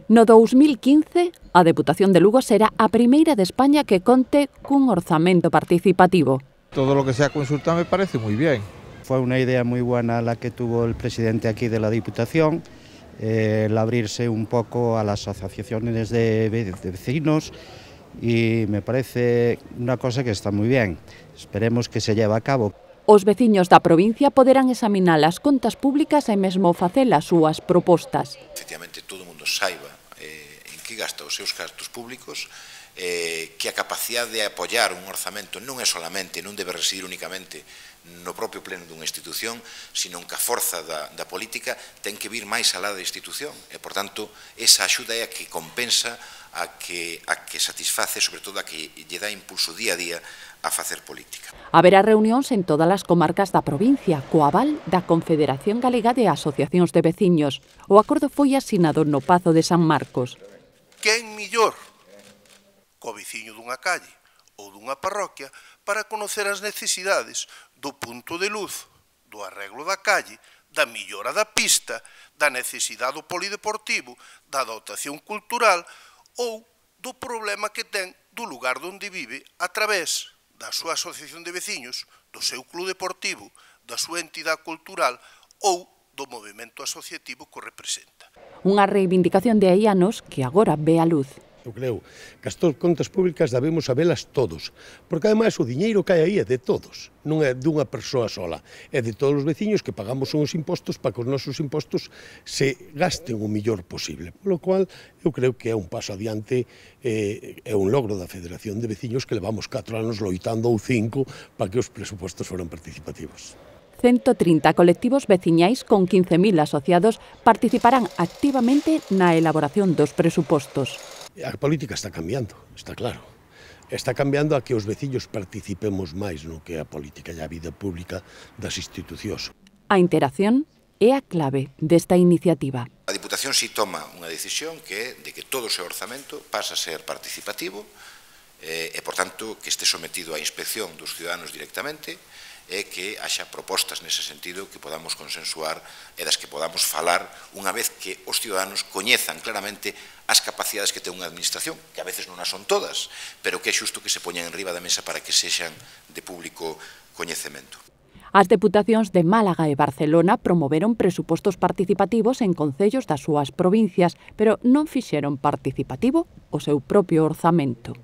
No 2015, a Deputación de Lugo será a primeira de España que conte cun orzamento participativo. Todo lo que sea consulta me parece muy bien. Fue una idea muy buena la que tuvo el presidente aquí de la Diputación, el abrirse un poco a las asociaciones de vecinos, y me parece una cosa que está muy bien. Esperemos que se lleve a cabo. Os veciños da provincia poderán examinar as contas públicas e mesmo facer as súas propostas. Efectivamente, todo o mundo saiba en que gasta os seus gastos públicos, que a capacidade de apoiar un orzamento non é solamente, non debe residir únicamente no propio pleno dunha institución, sino que a forza da política ten que vir máis alá da institución e, por tanto, esa axuda é a que compensa, a que satisface, sobre todo a que lle dá impulso día a día a facer política. Haberá reunións en todas as comarcas da provincia, co aval da Confederación Galega de Asociacións de Veciños. O acordo foi asinado no Pazo de San Marcos. Quen millor co veciño dunha calle ou dunha parroquia para conocer as necesidades do punto de luz, do arreglo da calle, da millora da pista, da necesidade do polideportivo, da dotación cultural ou do problema que ten do lugar onde vive a través da súa asociación de veciños, do seu club deportivo, da súa entidade cultural ou do movimento asociativo que o representa. Unha reivindicación de hai anos que agora ve a luz. Eu creo que as contas públicas debemos sabelas todos, porque ademais o diñeiro cae aí é de todos, non é dunha persoa sola, é de todos os veciños que pagamos uns impostos para que os nosos impostos se gasten o millor posible. Polo cual, eu creo que é un paso adiante, é un logro da Federación de Veciños que levamos 4 anos loitando ou 5 para que os presupostos foran participativos. 130 colectivos veciñais con 15.000 asociados participarán activamente na elaboración dos presupostos. A política está cambiando, está claro. Está cambiando a que os veciños participemos máis no que é a política e a vida pública das institucións. A interacción é a clave desta iniciativa. A Diputación si toma unha decisión que é de que todo o seu orzamento pasa a ser participativo e, por tanto, que este sometido á inspección dos ciudadanos directamente e que haxa propostas nese sentido que podamos consensuar e das que podamos falar unha vez que os ciudadanos coñezan claramente as capacidades que ten unha administración, que a veces non as son todas, pero que é xusto que se poñan enriba da mesa para que sexan de público coñecemento. As deputacións de Málaga e Barcelona promoveron presupostos participativos en concellos das súas provincias, pero non fixeron participativo o seu propio orzamento.